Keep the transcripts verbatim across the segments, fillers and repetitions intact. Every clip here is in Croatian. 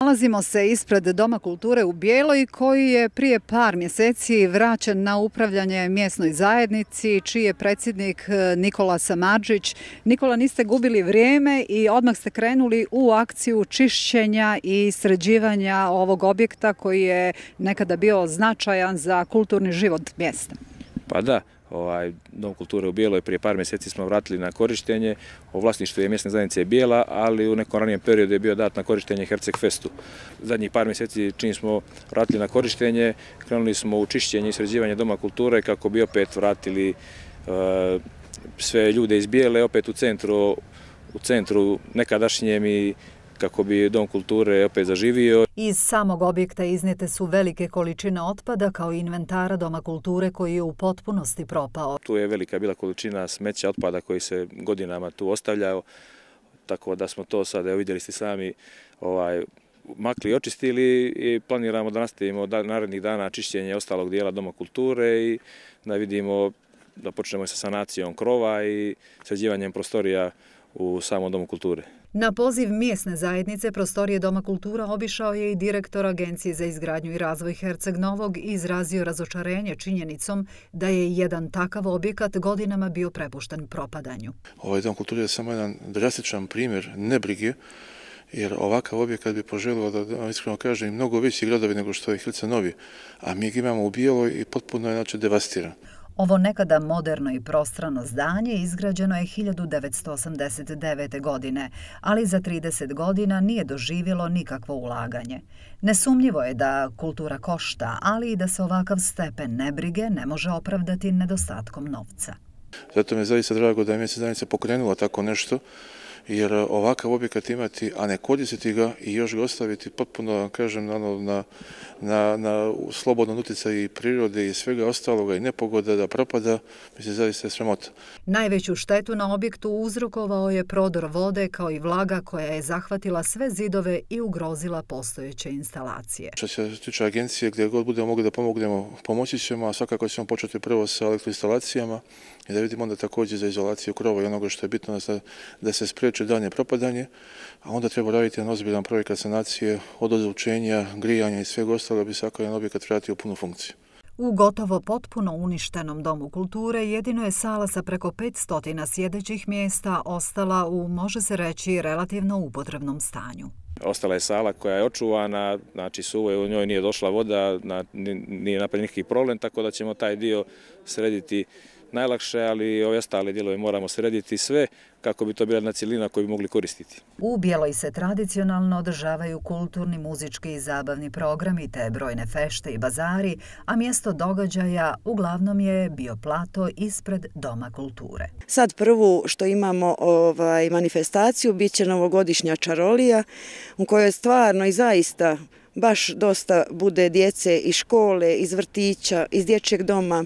Nalazimo se ispred Doma kulture u Bijeloj koji je prije par mjeseci vraćen na upravljanje mjesnoj zajednici, čiji je predsjednik Nikola Samardžić. Nikola, niste gubili vrijeme i odmah ste krenuli u akciju čišćenja i sređivanja ovog objekta koji je nekada bio značajan za kulturni život mjesta. Pa da. Ovaj, Dom kulture u Bijeloj prije par mjeseci smo vratili na korištenje. O vlasništvu je mjesne zajednice Bijela, ali u nekom ranijem periodu je bio dat na korištenje Herceg Festu. Zadnjih par mjeseci čim smo vratili na korištenje, krenuli smo u čišćenje i sređivanje Doma kulture kako bi opet vratili uh, sve ljude iz Bijele opet u centru, u centru nekadašnjem i kako bi Dom kulture opet zaživio. Iz samog objekta iznijete su velike količine otpada kao i inventara Doma kulture koji je u potpunosti propao. Tu je velika bila količina smeća, otpada koji se godinama tu ostavljao, tako da smo to sad, evo vidjeli ste sami, ovaj, makli i očistili i planiramo da nastavimo narednih dana čišćenje ostalog dijela Doma kulture i da vidimo da počnemo sa sanacijom krova i sređivanjem prostorija u samom Domu kulture. Na poziv mjesne zajednice prostorije Doma kultura obišao je i direktor Agencije za izgradnju i razvoj Herceg Novog i izrazio razočarenje činjenicom da je jedan takav objekat godinama bio prepušten propadanju. Ovaj Dom kulture je samo jedan drastičan primjer nebrige, jer ovakav objekat bi poželio da, iskreno kažem, mnogo veći gradovi nego što je Herceg Novi, a mi ga imamo u Bijeloj i potpuno je znači devastiran. Ovo nekada moderno i prostrano zdanje izgrađeno je hiljadu devetsto osamdeset devete. godine, ali za trideset godina nije doživjelo nikakvo ulaganje. Nesumnjivo je da kultura košta, ali i da se ovakav stepen nebrige ne može opravdati nedostatkom novca. Zato mi je zaista drago da je mjesna zajednica pokrenula tako nešto, jer ovakav objekat imati, a ne koristiti ga i još ga ostaviti potpuno, kažem, na, na, na, na slobodnom utjecaju i prirode i svega ostaloga i nepogoda da propada, mislim, zaista je sramota. Najveću štetu na objektu uzrokovao je prodor vode kao i vlaga koja je zahvatila sve zidove i ugrozila postojeće instalacije. Što se tiče agencije, gdje god budemo mogli da pomognemo, pomoći ćemo, a svakako ćemo početi prvo sa elektroinstalacijama i da vidimo onda također za izolaciju krova i onoga što je bitno da, da se spriječi dalje propadanje, a onda treba raditi jedan ozbiljan projekat sanacije od ozvučenja, grijanja i svega ostalo da bi svaki jedan objekat vratio u punu funkciju. U gotovo potpuno uništenom Domu kulture jedino je sala sa preko petsto sjedećih mjesta ostala u, može se reći, relativno upotrebnom stanju. Ostala je sala koja je očuvana, znači suvo je, u njoj nije došla voda, nije napravljen nikakvi problem, tako da ćemo taj dio srediti najlakše, ali ove ostale dijelove moramo srediti sve kako bi to bila jedna cjelina koju bi mogli koristiti. U Bijeloj se tradicionalno održavaju kulturni, muzički i zabavni programi te brojne fešte i bazari, a mjesto događaja uglavnom je bio plato ispred Doma kulture. Sad prvu što imamo ovaj, manifestaciju bit će novogodišnja čarolija u kojoj stvarno i zaista baš dosta bude djece iz škole, iz vrtića, iz dječjeg doma.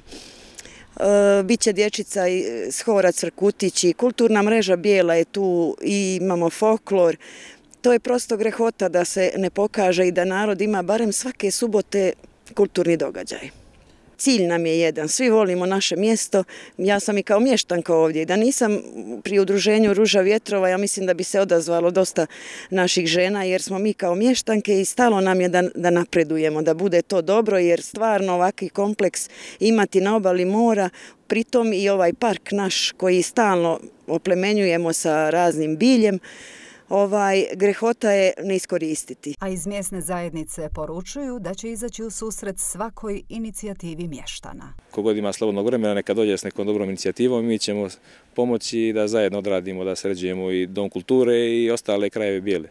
Biće dječica iz hora Crkutići, kulturna mreža Bijela je tu i imamo folklor. To je prosto grehota da se ne pokaže i da narod ima barem svake subote kulturni događaj. Cilj nam je jedan, svi volimo naše mjesto, ja sam i kao mještanka ovdje. Da nisam pri udruženju Ruža vjetrova, ja mislim da bi se odazvalo dosta naših žena jer smo mi kao mještanke i stalo nam je da, da napredujemo, da bude to dobro jer stvarno ovakvi kompleks imati na obali mora, pritom i ovaj park naš koji stalno oplemenjujemo sa raznim biljem, Ovaj, grehota je ne iskoristiti. A iz mjesne zajednice poručuju da će izaći u susret svakoj inicijativi mještana. Kogod ima slobodnog vremena, neka dođe s nekom dobrom inicijativom, mi ćemo pomoći da zajedno odradimo, da sređujemo i Dom kulture i ostale krajeve Bijele.